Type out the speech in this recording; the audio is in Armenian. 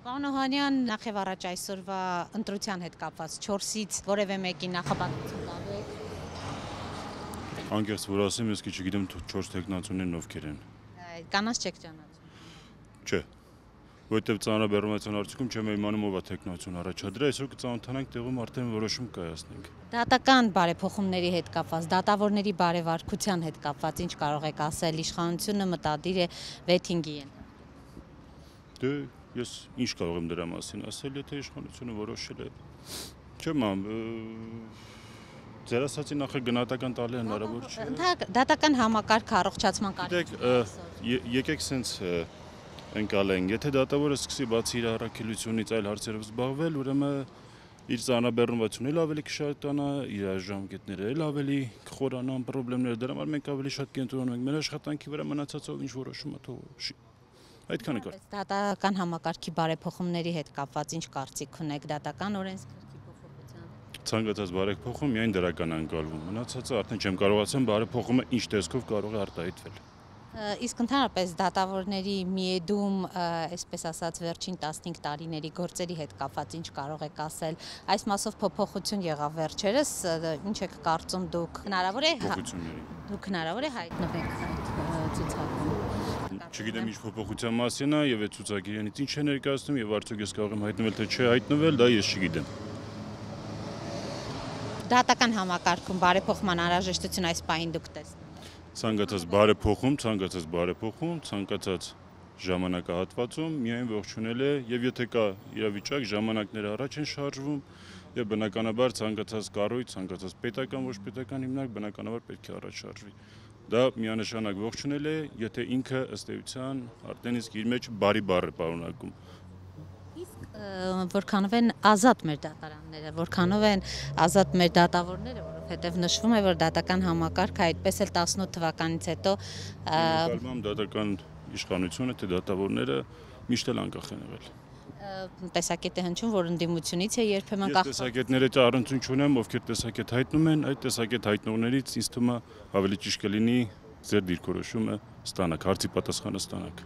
Պարոն Օհանյան, նախ եւ առաջ այսօրվա ընտրության հետ կապված 4-ից որևէ մեկի նախապատվություն տալու եք։ Անկեղծ որ ասեմ, ես չգիտեմ 4 տեխնացուներն ովքեր են։ Կանանց չեք ճանաչում։ Չէ։ Որտեւ ծանրաբեռնության արդյունքում չեմ իմանում ով է տեխնացուն առաջադրել, այսօր կծանոթանանք տեղում արդեն որոշում կայացնենք։ Դատական բարեփոխումների հետ կապված, դատավորների բարևարկության հետ կապված ինչ կարող եք ասել, իշխանությունը մտադիր է վեթինգի են։ Դե ես ինչ կարող եմ դրա մասին ասել, եթե իշխանությունը որոշել է։ Չեմ ձեր ասացի նախ գնահատական տալը հնարավոր չէ։ Դատական համակարգ առողջացման կարիք։ Եկեք սենց ընկալենք, եթե դատավորը սկսի բացի իր առաքելությունից այլ հարցերով զբաղվել, ուրեմն իր ծանրաբեռնվածությունը էլ ավելի կշատանա, իր ժամկետները էլ ավելի կխորանան, խնդիրները դրա համար մենք ավելի շատ կենտրոնանում ենք մեր աշխատանքի վրա, մնացածով ինչ որոշումը թող այդքանը կար։ Դատական համակարգի բարեփոխումների հետ կապված ինչ կարծիք ունեք դատական օրենսգրքի փոփոխությամբ։ Ցանկացած բարեփոխում միայն դրական անցալվում։ Մնացածը արդեն չեմ կարող ասեմ բարեփոխումը ինչ տեսքով կարող է արտահայտվել։ Իսկ ընդհանրապես դատավորների միեդում, այսպես ասած, վերջին 15 տարիների գործերի հետ կապված ինչ կարող եք ասել։ Այս մասով փոփոխություն եղավ վերջերս, ինչ եք կարծում դուք։ Դուք հնարավոր է հայտնվեք այդ ցուցակում։ Չգիտեմ ինչ փոփոխության մասին է եւ այդ ցուցակիրանից ինչ է ներկայացնում եւ արդյոք ես կարող եմ հայտնվել թե չէ հայտնվել, դա ես չգիտեմ։ Դատական համակարգում բարեփոխման անհրաժեշտություն այս պահին դուք տեսնեք։ Ցանկացած բարեփոխում, ցանկացած ժամանակահատվածում միայն ողջունել է եւ եթե կա իրավիճակ ժամանակները առաջ են շարժվում եւ բնականաբար ցանկացած կառույց, ցանկացած պետական ոչ պետական հիմնարկ բնականաբար պետք է առաջ շարժվի։ Դա միանշանակ ողջունել է, եթե ինքը ըստ էության արդեն իսկ իր մեջ բարի բառ է պարունակում։ Իսկ որքանով են ազատ մեր դատարանները, որքանով են ազատ մեր դատավորները, որովհետև նշվում է, որ դատական համակարգը այդպես էլ 18 թվականից հետո դատական իշխանությունը թե դատավորները միշտ էլ անկախ են եղել։ Տեսակետ է հնչում, որ ընդդիմությունից է երբեմն կախված։ Ես տեսակետները առնչություն չունեմ, ովքեր տեսակետ հայտնում են, այդ տեսակետ հայտնողներից ինձ թվում է ավելի ճիշտ կլինի ձեր դիրքորոշումը ստանաք, հարցի պատասխանը ստանաք։